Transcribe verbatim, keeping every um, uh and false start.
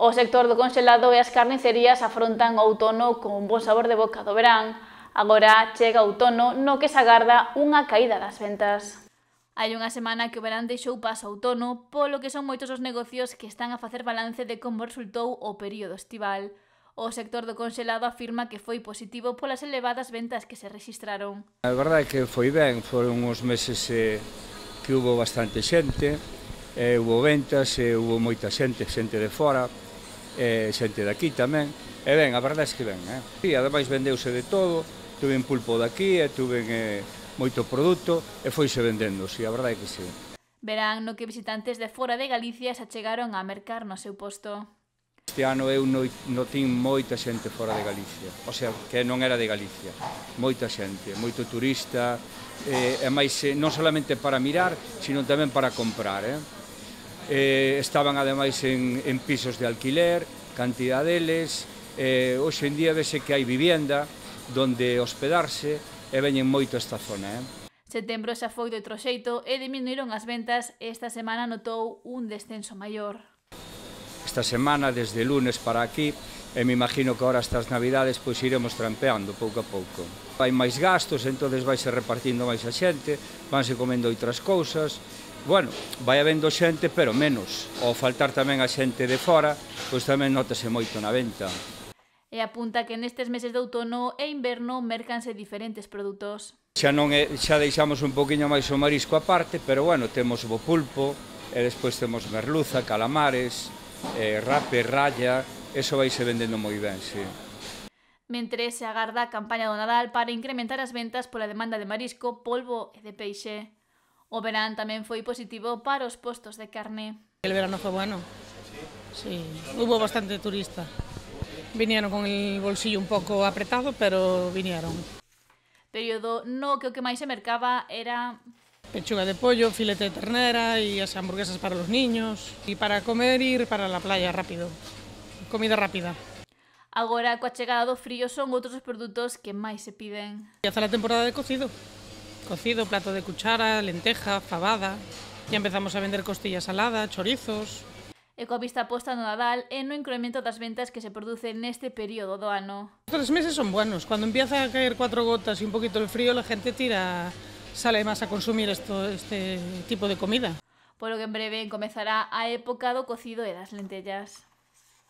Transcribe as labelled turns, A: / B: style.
A: O sector do conxelado e as carnicerías afrontan o outono con un bon sabor de boca do verán. Agora chega o outono no que se agarda unha caída das ventas. Hai unha semana que o verán deixou paso ao outono, polo que son moitos os negocios que están a facer balance de como resultou o período estival. O sector do conxelado afirma que foi positivo polas elevadas ventas que se rexistraron.
B: A verdade é que foi ben, foron uns meses eh, que hubo bastante xente, eh, hubo ventas, eh, hubo moita xente, xente de fora, eh, xente de aquí tamén, e ben, a verdade é que ben, eh? E ademais vendeuse de todo, tuven pulpo de aquí, e tuven eh, moito produto, e foise vendendo, si, a verdade é que si.
A: Verán no que visitantes de fora de Galicia se achegaron a mercar no seu posto.
B: Este ano eu notín moita xente fora de Galicia, o sea, que non era de Galicia, moita xente, moito turista, e, e máis non solamente para mirar, sino tamén para comprar, eh? Eh, estaban ademais en, en pisos de alquiler, cantidad deles, eh, hoxe en día vese que hai vivienda donde hospedarse e veñen moito esta zona. Eh?
A: Setembro xa foi de outro xeito e diminuíron as ventas e esta semana notou un descenso maior.
B: Esta semana, desde lunes para aquí, e me imagino que ahora estas navidades pois iremos trampeando pouco a pouco. Hai máis gastos, entonces vaise repartindo máis a xente, vanse comendo outras cousas. Bueno, vai habendo xente, pero menos. Ao faltar tamén a xente de fora, pois tamén nótase moito na venta.
A: E apunta que nestes meses de outono e inverno mercanse diferentes produtos.
B: Xa non é, xa deixamos un poquinho máis o marisco aparte, pero bueno, temos o pulpo, e despois temos merluza, calamares, eh, rape, raya, eso vaise vendendo moi ben, sí.
A: Mentre se agarda a campaña do Nadal para incrementar as ventas pola demanda de marisco, polvo e de peixe. O verán tamén foi positivo para os postos de carne.
C: El verano fue bueno, sí, hubo bastante turista. Vinieron con el bolsillo un poco apretado, pero vinieron.
A: Período no que o que máis se mercaba era
C: pechuga de pollo, filete de ternera y as hamburguesas para los niños. Y para comer, ir para la playa rápido. Comida rápida.
A: Agora, coa chegada do frío, son outros os produtos que máis se piden.
C: Ya está la temporada de cocido. Cocido, plato de cuchara, lenteja, fabada. Ya empezamos a vender costilla salada, chorizos.
A: E coa vista posta no Nadal e no incremento das ventas que se producen neste período do ano.
C: Los tres meses son buenos. Cuando empieza a caer cuatro gotas y un poquito el frío, la gente tira, sale más a consumir esto, este tipo de comida.
A: Polo que en breve comezará a época do cocido e das lentellas.